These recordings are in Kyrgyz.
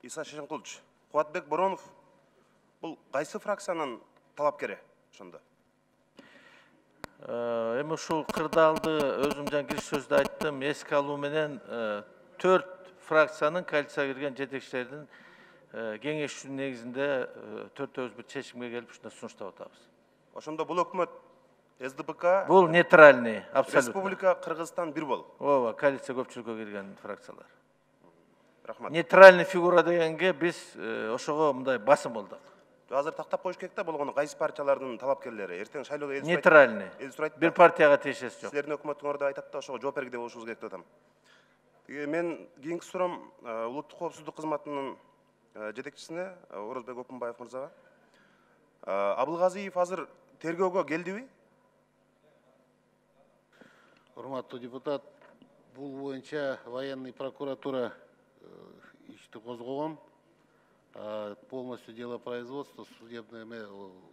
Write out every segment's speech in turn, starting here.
Иса Шешенкулович, Кубатбек Боронов бул кайсы фракциянын талапкери ошондо? Эми ушул кырдаалды өзүм жана кириш сөздө айттым, эске алуу менен 4 фракциянын коалицияга кирген жетекчилердин кеңешүүнүн негизинде 4-өбүз бир чечимге келип ушундай сунуштап атабыз. Ошондо бул өкмөт СДПК, Бул нейтральный, абсолютно. Республика, Кыргызстан бир болуп. Ооба, коалиция көпчүлүккө кирген фракциялар. Рахмат. Нейтральный фигура дегенге биз ошого мындай басым болдук. Азыр тактап коюш керек да, болгону кайсы партиялардын талапкерлери эртең шайлоодо эл Нейтральный. сурайт. Бир партияга тиешеси жок. Силердин өкмөтүңөрдө айтат да, ошого жооп бергиле болушубуз керек деп атам. Мен кийинки суроом улуттук коопсуздук кызматынын жетекчисине Орозбек Опунбаев мырзага. Абылгазиев азыр тергөөгө келдиби? Урматтуу депутат, бул боюнча военный прокуратура ишти козгогон. Полностью дело производства, судебное,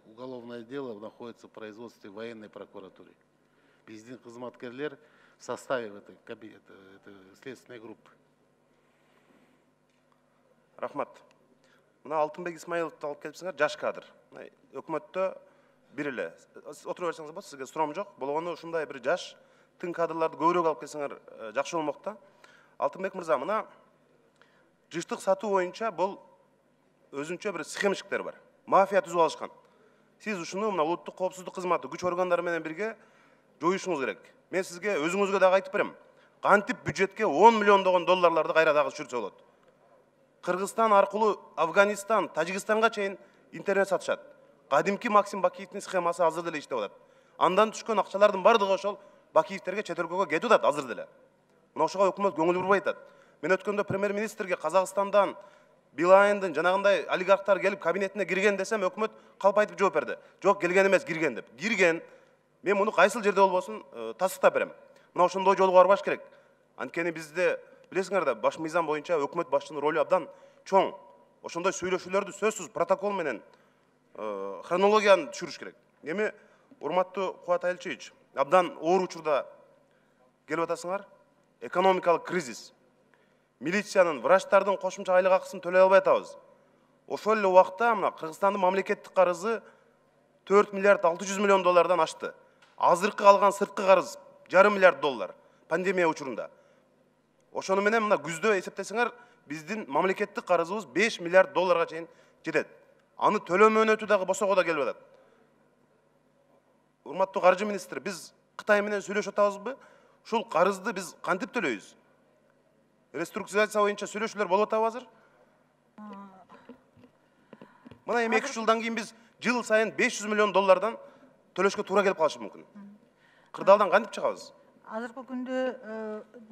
уголовное дело находится в производстве военной прокуратуры. Биздин кызматкерлер в составе этой следственной группы. Рахмат. Мына Алтынбек Исмаиловду алып келипсиңер, жаш кадр. Өкмөттө бир эле. Отура берсеңиз болот, сизге суроом жок. Болгону ушундай бир жаш тың кадрларды көбүрөөк алып келсеңер жакшы болмок да. Алтынбек мырза, мына жыштык сатуу боюнча бул өзүнчө бир схемщиктер бар. Мафия түзүп алышкан. Сиз ушуну мына улуттук коопсуздук кызматы күч органдары менен бирге жоюшуңуз керек. Мен сизге өзүңүзгө дагы айтып берем. Кантип бюджетке 10 миллиондогон долларларды кайра дагы түшүрсө болот. Кыргызстан аркылуу Афганистан, Тажикстанга чейин интернет сатышат. Кадимки Максим Бакиевдин схемасы азыр деле иштеп атат. Андан түшкөн акчалардын бардыгы ошол Бакиевтерге чет өлкөгө кетип атат азыр деле. Мына ошого өкмөт көңүл бурбай атат. Мен өткөндө премьер-министрге Казакстандан, Билайндын жанагындай олигархтар келип кабинетине кирген десем, өкмөт калп айтып жооп берди. Жок, келген эмес, кирген деп. Кирген. Мен муну кайсыл жерде болбосун тастыктап берем. Мына ошондой жолго барбаш керек. Анткени бизде билесиңер да, баш мыйзам боюнча өкмөт башчынын ролу абдан чоң. Ошондой сүйлөшүүлөрдү сөзсүз протокол менен хронологияны түшүрүш керек. Эми урматтуу Кубат Айылчевич, абдан оор учурда келип атасыңар. Экономикалык кризис. Милициянын, врачтардын кошумча айлык акысын төлөй албай атабыз. Ошол эле убакта мына Кыргызстандын мамлекеттик карызы 4 миллиард 600 миллион доллардан ашты. Азыркы калган сырткы карыз 1,5 миллиард доллар пандемия учурунда. Ошону менен мына күздө эсептесеңер, биздин мамлекеттик карызыбыз 5 миллиард долларга чейин жетет. Аны төлөө мөөнөтү дагы босого да келип атат. Урматтуу каржы министри, биз Кытай менен сүйлөшүп атабызбы? Ушул карызды биз кантип төлөйбүз? Реструктуризация боюнча сүйлөшүүлөр болуп атабы азыр? Мына эми 2 жылдан кийин биз жыл сайын 500 миллион доллардан төлөшкө туура келип калышы мүмкүн. Кырдаалдан кантип чыгабыз? Азыркы күндө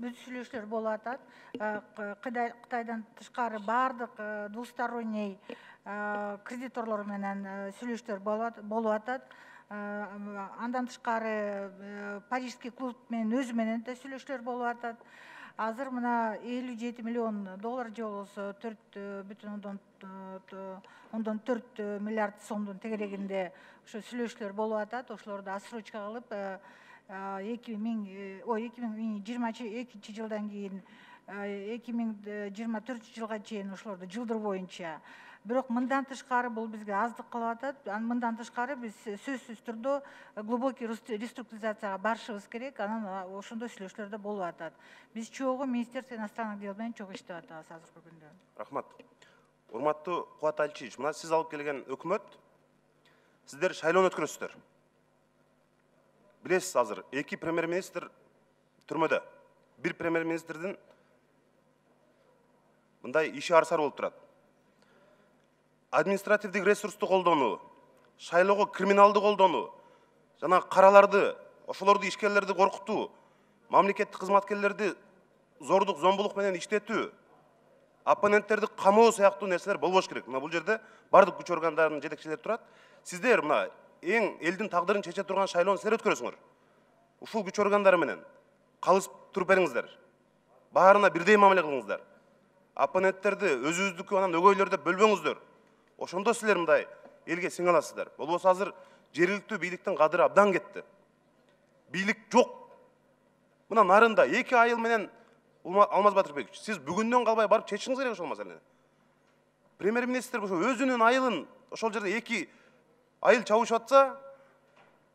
бүт сүйлөшүүлөр болуп атат. Кытайдан тышкары бардык двусторонний кредиторлор менен сүйлөшүүлөр болуп атат. Андан тышкары Парижский клуб менен өзү менен да сүйлөшүүлөр болуп атат. Азыр мына 57 миллион доллар же болбосо 4,4 миллиард сомдун тегерегинде ошо сүйлөшүүлөр болуп атат. Ошолорду отсрочка кылып 2022 жылдан кийин 2024 жылга чейин ошолорду жылдыр боюнча. Бирок мындан тышкары бул бизге аздык кылып атат. Мындан тышкары биз сөзсүз түрдө глубокий реструктуризацияга барышыбыз керек. Анан ошондой сүйлөшүүлөр да болуп атат. Биз чогуу Министерство иностранных дел менен чогуу иштеп атабыз азыркы күндө. Рахмат. Урматтуу Кубат Айылчевич, мына сиз алып келген өкмөт, сиздер шайлоону өткөрөсүздөр. Билесиз, азыр 2 премьер-министр түрмөдө. Бир премьер-министрдин мындай иши арсар болуп турат. Административдик ресурсту колдонуу, шайлоого криминалды колдонуу, жана караларды, ошолорду ишкерлерди коркутуу, мамлекеттик кызматкерлерди зордук, зомбулук менен иштетүү, оппоненттерди камоо сыяктуу нерселер болбош керек. Мына бул жерде бардык күч органдарынын жетекчилери турат. Сиздер мына эң элдин тагдырын чече турган шайлоону силер өткөрөсүңөр. Ушул күч органдары менен калышып туруп бериңиздер. Баарына бирдей мамиле кылыңыздар. Оппоненттерди өзүбүздүкү анан өгөйлөр деп бөлбөңүздөр. Ошондо силер мындай элге сиң аласыздар. Болбосо азыр жергиликтүү бийликтин кадыры абдан кетти. Бийлик жок. Мына нарында 2 айыл менен Алмаз Батырбекович, сиз бүгүндөн калбай барып чечишиңиз керек ошол маселени. Премьер-министр ошо өзүнүн айылын ошол жерде 2 айыл чабышып атса,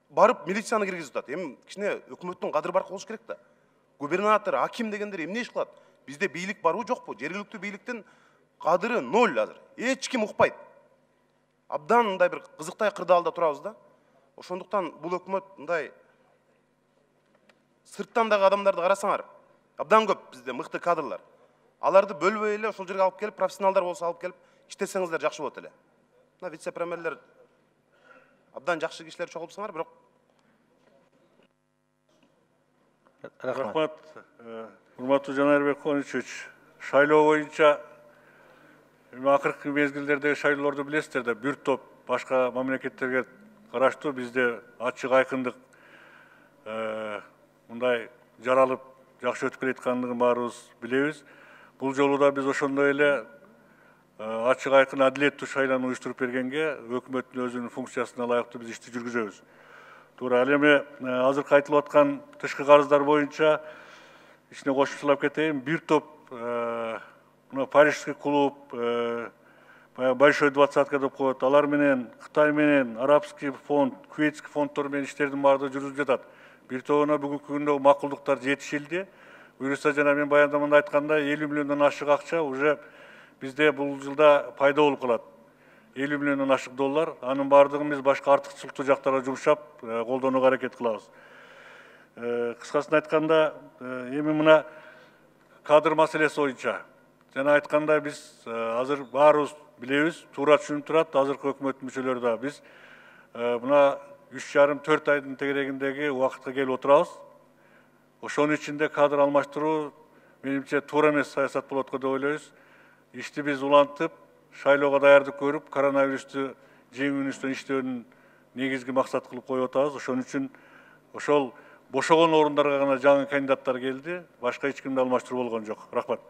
барып милицияны киргизип атат. Эми кичине өкмөттүн кадыр баркы болуш керек да. Губернатор, аким дегендер эмне иш кылат? Бизде бийлик барбы, жокпу? Жергиликтүү бийликтин кадыры 0 азыр. Эч ким укпайт. Абдан мындай бир кызыктай кырдаалда турабыз да. Ошондуктан бул өкмөт мындай сырттан дагы адамдарды карасаңар, абдан көп бизде мыкты кадрлар. Аларды бөлбөй эле ошол жерге алып келип, профессионалдар болсо алып келип иштесеңиздер жакшы болот эле. Мына вице-премьерлер абдан жакшы кишилер чогултсаңар, бирок Рахмат. Урматтуу Жанарбек Коничевич, шайлоо боюнча акыркы мезгилдердеги шайлоолорду билесиздер да, бир топ башка мамлекеттерге караштуу бизде ачык айкындык мындай жаралып жакшы өтүп келаткандыгын баарыбыз билебиз. Бул жолу да биз ошондой эле ачык айкын адилеттүү шайлоону уюштуруп бергенге өкмөттүн өзүнүн функциясына ылайыктуу биз ишти жүргүзөбүз. Туура. Ал эми азыркы айтылып аткан тышкы карыздар боюнча ичине кошумчалап кетейин. Бир топ мына Парижский клуб, Большой двадцатка деп коет. Алар менен Кытай менен Арабский фонд, Куветский фонддор менен иштердин баардыгы жүрүлүп жатат. Бир тобуна бүгүнкү күндө макулдуктар жетишилди. Буюрса жана мен баяндамамда айткандай 50 миллиондон ашык акча уже бизде бул жылда пайда болуп калат. 50 миллиондон ашык доллар. Анын баардыгын биз башка артыкчылыктуу жактарга жумшап, колдонууга аракет кылабыз. Кыскасын айтканда, эми мына кадр маселеси боюнча жана айткандай биз азыр баарыбыз билебиз, туура түшүнүп турат, азыркы өкмөттүн мүчөлөрү да биз мына 3,5-4 айдын тегерегиндеги убакытка келип отурабыз. Ошонун ичинде кадр алмаштыруу менимче туура эмес саясат болот го деп ойлойбуз. Ишти биз улантып, шайлоого даярдык көрүп, коронавирусту жеңүүнүстөн иштөөнүн негизги максат кылып коюп атабыз. Ошон үчүн ошол бошогон орундарга гана жаңы кандидаттар келди, башка эч кимде алмаштыруу болгон жок. Рахмат.